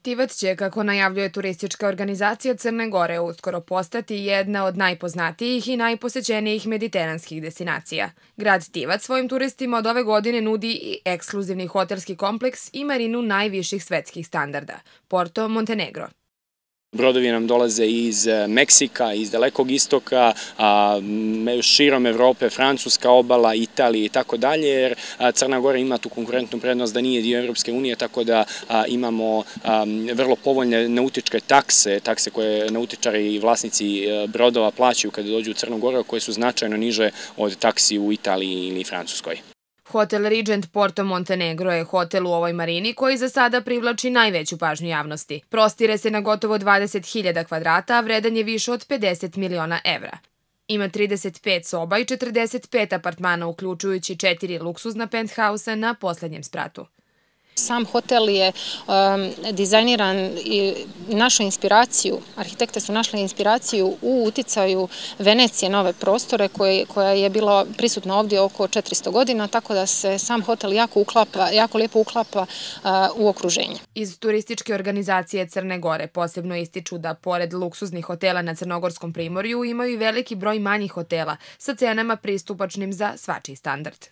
Tivac će, kako najavljuje turistička organizacija Crne Gore, uskoro postati jedna od najpoznatijih i najposećenijih mediteranskih destinacija. Grad Tivac svojim turistima od ove godine nudi i ekskluzivni hotelski kompleks i marinu najviših svetskih standarda – Porto Montenegro. Brodovi nam dolaze iz Meksika, iz Dalekog istoka, širom Evrope, Francuska obala, Italije i tako dalje, jer Crna Gora ima tu konkurentnu prednost da nije dio Evropske unije, tako da imamo vrlo povoljne nautičke takse koje nautičari i vlasnici brodova plaćaju kada dođu u Crnu Goru, koje su značajno niže od taksi u Italiji ili Francuskoj. Hotel Regent Porto Montenegro je hotel u ovoj marini koji za sada privlači najveću pažnju javnosti. Prostire se na gotovo 20.000 kvadrata, a vredan je više od 50 miliona evra. Ima 35 soba i 45 apartmana, uključujući 4 luksuzna penthausa na poslednjem spratu. Sam hotel je dizajniran i našao inspiraciju, arhitekte su našli inspiraciju u uticaju Venecije na ove prostore koja je bila prisutna ovdje oko 400 godina, tako da se sam hotel jako lijepo uklapa u okruženje. Iz turističke organizacije Crne Gore posebno ističu da pored luksuznih hotela na Crnogorskom primorju imaju i veliki broj manjih hotela sa cenama pristupačnim za svačiji standard.